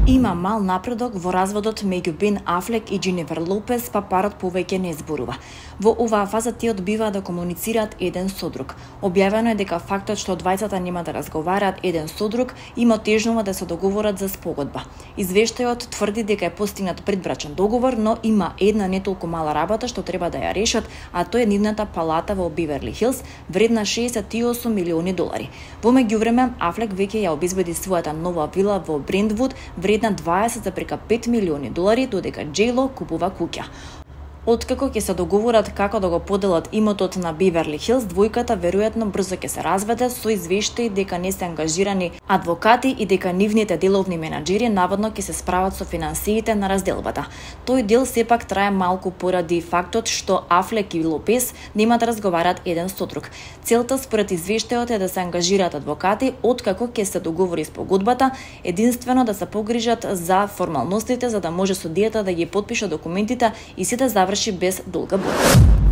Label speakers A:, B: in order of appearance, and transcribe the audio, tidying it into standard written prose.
A: Има мал напредок во разводот меѓу Бен Афлек и Дженифер Лопес, па парот повеќе не зборува. Во оваа фаза тие одбиваат да комуницираат еден со друг. Објавено е дека фактот што двајцата нема да разговараат еден со друг им отежнува да се договорат за спогодба. Извештајот тврди дека е постигнат предбрачен договор, но има една не толку мала работа што треба да ја решат, а тоа е нивната палата во Биверли Хилс, вредна $68 милиони. Во меѓувреме, Афлек веќе ја обезбеди својата нова вила во Брентвуд, вредна $20,5 милиони, додека J.Lo купува куќа. Откако ќе се договорат како да го поделат имотот на Биверли Хилс, двојката веројатно брзо ќе се разведат, со извештаи дека не се ангажирани адвокати и дека нивните деловни менаџери наводно ќе се справат со финансиите на разделбата. Тој дел сепак трае малку поради фактот што Афлек и Лопес нема да разговараат еден со друг. Целта според извештајот е да се ангажираат адвокати откако ќе се договори спогодбата, единствено да се погрижат за формалностите за да може судијата да ги потпише документите и се да заврши без долга борба.